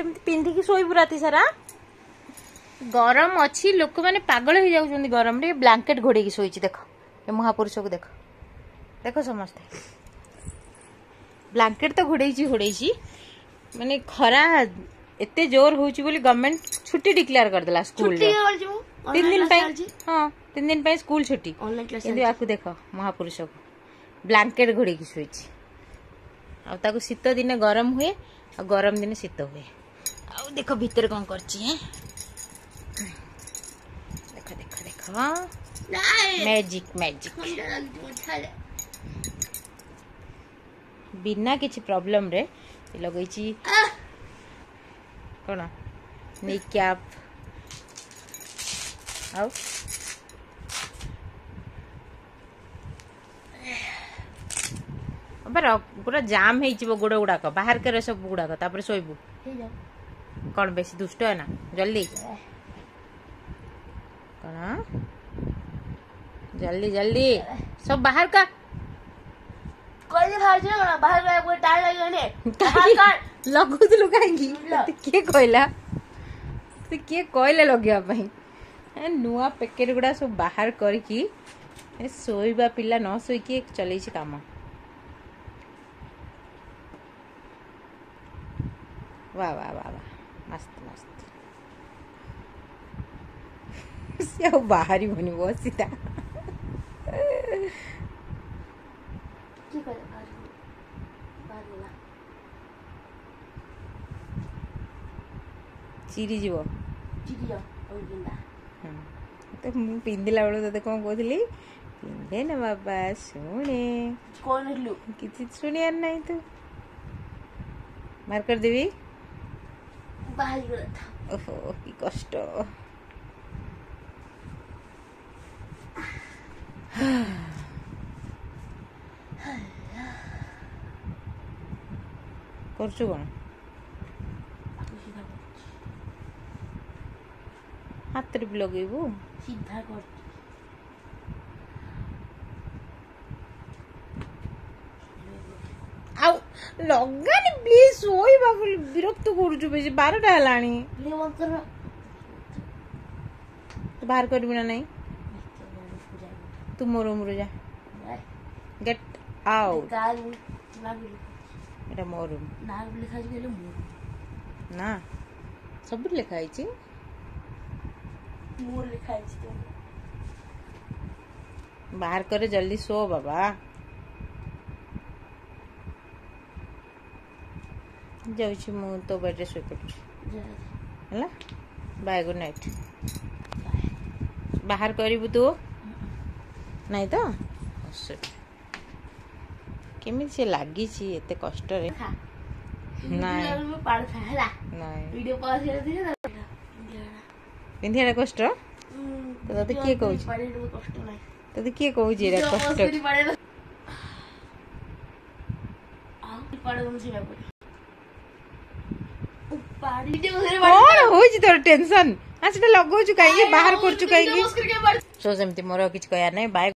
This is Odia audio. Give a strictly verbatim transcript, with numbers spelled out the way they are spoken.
ଏମିତି ପିନ୍ଧିକି ଶୋଇବୁ ରାତି ସାରା ଗରମ ଅଛି ଲୋକମାନେ ପାଗଳ ହେଇଯାଉଛନ୍ତି ଗରମରେ ବ୍ଲାଙ୍କେଟ୍ ଘୋଡ଼େଇକି ଶୋଇଛି ଦେଖ ଏ ମହାପୁରୁଷକୁ ଦେଖ ଦେଖ ସମସ୍ତେ ବ୍ଲାଙ୍କେଟ୍ ତ ଘୋଡ଼େଇଛି ଘୋଡ଼େଇଛି ମାନେ ଖରା ଏତେ ଜୋର ହଉଛି ବୋଲି ଗଭର୍ଣ୍ଣମେଣ୍ଟ ଛୁଟି ଡିକ୍ଲେୟାର କରିଦେଲା ସ୍କୁଲରେ ତିନି ଦିନ ପାଇଁ ହଁ ତିନି ଦିନ ପାଇଁ ସ୍କୁଲ ଛୁଟି କିନ୍ତୁ ୟାକୁ ଦେଖ ମହାପୁରୁଷକୁ ବ୍ଲାଙ୍କେଟ୍ ଘୋଡ଼େଇକି ଶୋଇଛି ଆଉ ତାକୁ ଶୀତ ଦିନେ ଗରମ ହୁଏ ଆଉ ଗରମ ଦିନେ ଶୀତ ହୁଏ ଆଉ ଦେଖ ଭିତରେ କ'ଣ କରିଛି ହେଁ ଦେଖ ଦେଖ ଦେଖ ମ୍ୟାଜିକ୍ ମ୍ୟାଜିକ୍ ବିନା କିଛି ପ୍ରୋବ୍ଲେମରେ ଲଗେଇଛି କ'ଣ ନି କ୍ୟାପ୍ ଆଉ ପୁରା ଜାମ୍ ହେଇଯିବ ଗୋଡ଼ ଗୁଡ଼ାକ ବାହାର କରେ ସବୁ ଗୁଡ଼ାକ ତାପରେ ଶୋଇବୁ କ'ଣ ବେଶୀ ଦୁଷ୍ଟ ନା ଜଲ୍ଦି କ'ଣ ଜଲ୍ଦି ଜଲ୍ଦି ସବୁ ବାହାର କର ଲଗଉଥିଲୁ କାହିଁକି କିଏ କହିଲା କିଏ କହିଲା ଲଗେଇବା ପାଇଁ ନୂଆ ପ୍ୟାକେଟ୍ ଗୁଡ଼ା ସବୁ ବାହାର କରିକି ଶୋଇବା ପିଲା ନ ଶୋଇକି ଚଲେଇଛି କାମ ବାह ବାह ବାह ବାह ମସ୍ତ ମସ୍ତ ସେ ଆଉ ବାହାରିବନି ବସିତା ଚିରିଯିବ ତ ମୁଁ ପିନ୍ଧିଲା ବେଳକୁ ତତେ କ'ଣ କହୁଥିଲି ପିନ୍ଧେ ନା ବାବା ଶୁଣେ କିଛି ଶୁଣିବାର ନାହିଁ ତୁ ବାହାର କରିଦେବି ଓହୋ କି କଷ୍ଟ କରୁଛୁ କ'ଣ ହାତରେ ବି ଲଗେଇବୁ ସିଧା କରୁଛି ଆଉ ଲଗାନି ପ୍ଲିଜ ଶୋଇବାକୁ ବିରକ୍ତ କରୁଛୁ ବେଶୀ ବାରଟା ହେଲାଣି ତୁ ବାହାର କରିବୁ ନା ନାଇଁ ତୁ ମୋ ରୁମରୁ ଯା ଗେଟ୍ ଆଉଟ୍ ଏଟା ମୋ ରୁମ୍ ନା ସବୁଠି ଲେଖା ହେଇଛି ବାହାର କରେ ଜଲ୍ଦି ଶୋ ବାବା ଯାଉଛି ମୁଁ ତୋ ବେଡ଼୍ରେ ଶୋଇପଡ଼ୁଛି ହେଲା ବାଏ ଗୁଡ୍ ନାଇଟ୍ ବାହାର କରିବୁ ତୁ ନାଇଁ ତ କେମିତି ସେ ଲାଗିଛି ଏତେ କଷ୍ଟରେ ନାଇଁ ନାଇଁ ପିନ୍ଧିବାଟା କଷ୍ଟ ତତେ କିଏ କହୁଛି ତତେ କିଏ କହୁଛି ଏଇଟା କଷ୍ଟ କଣ ହଉଛି ତୋର ଟେନସନ ସେଟା ଲଗଉଛୁ କାହିଁକି ବାହାର କରୁଛୁ କାହିଁକି ସୋ ସେମିତି ମୋର କିଛି କହିବାର ନାହିଁ ବାଏ।